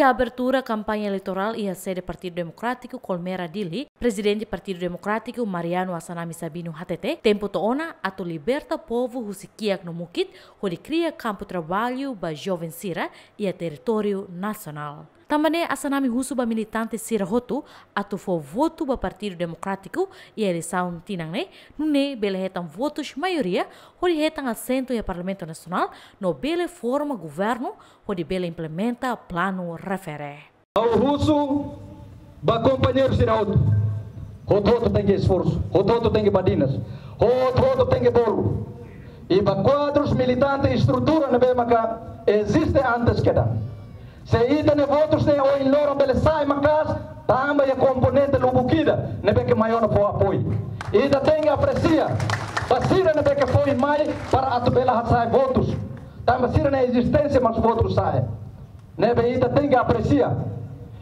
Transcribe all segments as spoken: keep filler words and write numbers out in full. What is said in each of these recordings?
Abertura kampaña eleitorál iha sede Partidu Demokrátiku Colmera Dili, Prezidente Partidu Demokrátiku Mariano Assanami Sabino hatete, tempu to'o ona atu liberta povu husi kiak no mukit, hodi kria kampu traballu ba joven sira iha territóriu nasionál. Tanba ne'e Assanami husu ba militante sira hotu atu fó votu ba Partidu Demokrátiku iha eleisaun tinan ne'e, nune'e bele hetan votus maioria hodi hetan asentu iha Parlamentu Nasionál no bele forma governu hodi bele implementa planu refere. Ha'u husu ba kompañeiru sira hotu. Hotu-hotu tenke esforsu, hotu-hotu tenke badinas, hotu-hotu tenke bolu. I ba kuadrus, militante, estrutura ne'ebé maka eziste antes kedan. Se ita-nia votus ne'e ohin loron bele sai maka'as, tanba iha komponente lubuk ida ne'ebé ke mai ona fó apoiu. Ita tenke apresia ba sira ne'ebé ke foin mai para atu bele hasa'e votus. Tanba sira-nia ezisténsia mak votus sa'e. Ne'ebé ita tenke apresia.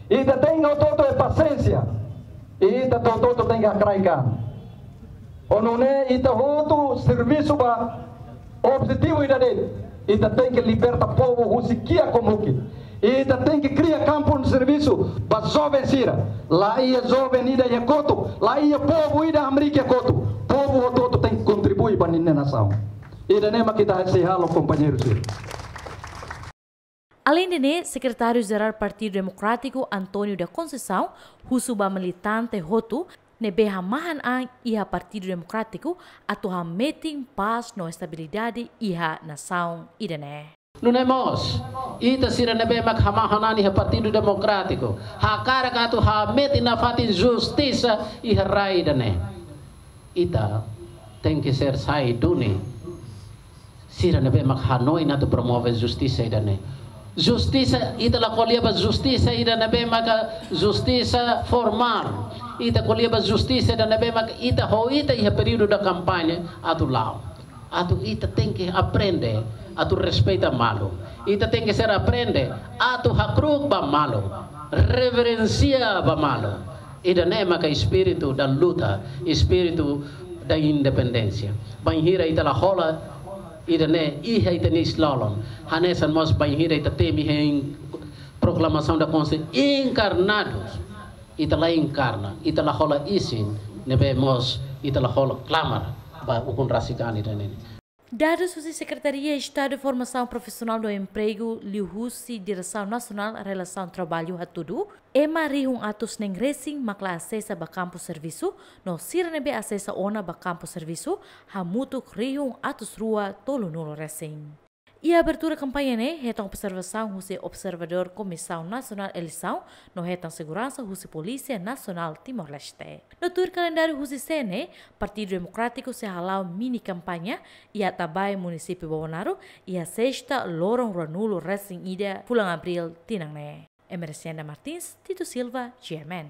Ita tenke hotu-hotu iha pasiénsia. Ita hotu-hotu tenke hakraik an. Ho nune'e ita hotu servisu ba objetivu ida de'it. Ita tenke liberta povu husi kiak ho mukit. Ita tenke kria kampu servisu ba joven sira. La iha joven ida iha kotuk, la iha povu ida hamriik iha kotuk. Povu hotu-hotu tenke kontribui ba ninia nasaun. Ida-ne'e mak ita sei halo, kompañeiru sira. Aleinde ne'e, Sekretáriu Jerál Partidu Demokrátiku António da Conceição husu ba militante hotu ne'ebé hamahan an iha Partidu Demokrátiku atu hametin pás no estabilidade iha nasaun ida-ne'e. Nune'e mós, ita sira ne'ebé mak hamahan an iha Partidu Demokrátiku, hakarak atu hametin nafatin justisa iha rai ida-ne'e. Ita tenke ser sai duni sira ne'ebé mak hanoin atu promove justisa ida-ne'e. Justisa, ita la ko'alia ba justisa ida ne'ebé maka justisa formál. Ita ko'alia ba justisa ida ne'ebé maka ita ho ita iha períodu da kampaña atu la'o. Atu ita tenke aprende atu respeita malu. Ita tenke ser aprende atu hakru'uk ba malu, reverensia ba malu. Ida-ne'e maka espíritu da luta, espíritu da independénsia. Bainhira ita la hola ida-ne'e iha ita-nia isin-lolon, hanesan mós bainhira ita temi hein proklamasaun da Konstituisaun enkarnadus. Ita la enkarna, ita la hola isin, ne'ebé mós ita la hola klamar ba ukun rasik an ida-ne'e. Dadus husi Sekretaria Estadu Formasaun Profisionál no Empregu, liuhusi Diresaun Nasionál Relasaun Traballu hatudu, ema rihun atus neen resin mak la asesa ba kampu servisu, no sira ne'ebé asesa ona ba kampu servisu hamutuk rihun atus rua tolunulu resin. Iha abertura kampaña ne'e hetan observasaun husi observadór Komisaun Nasionál Eleisaun no hetan seguransa husi Polísia Nasionál Timor-Leste. No tuir kalendáriu husi C N E, Partidu Demokrátiku sei hala'o mini kampaña iha Atabae, Munisípiu Bobonaro, iha sesta, loron ruanulu resin ida fulan Abríl tinan ne'e. Emericiana Martins, Tito Silva, G M N.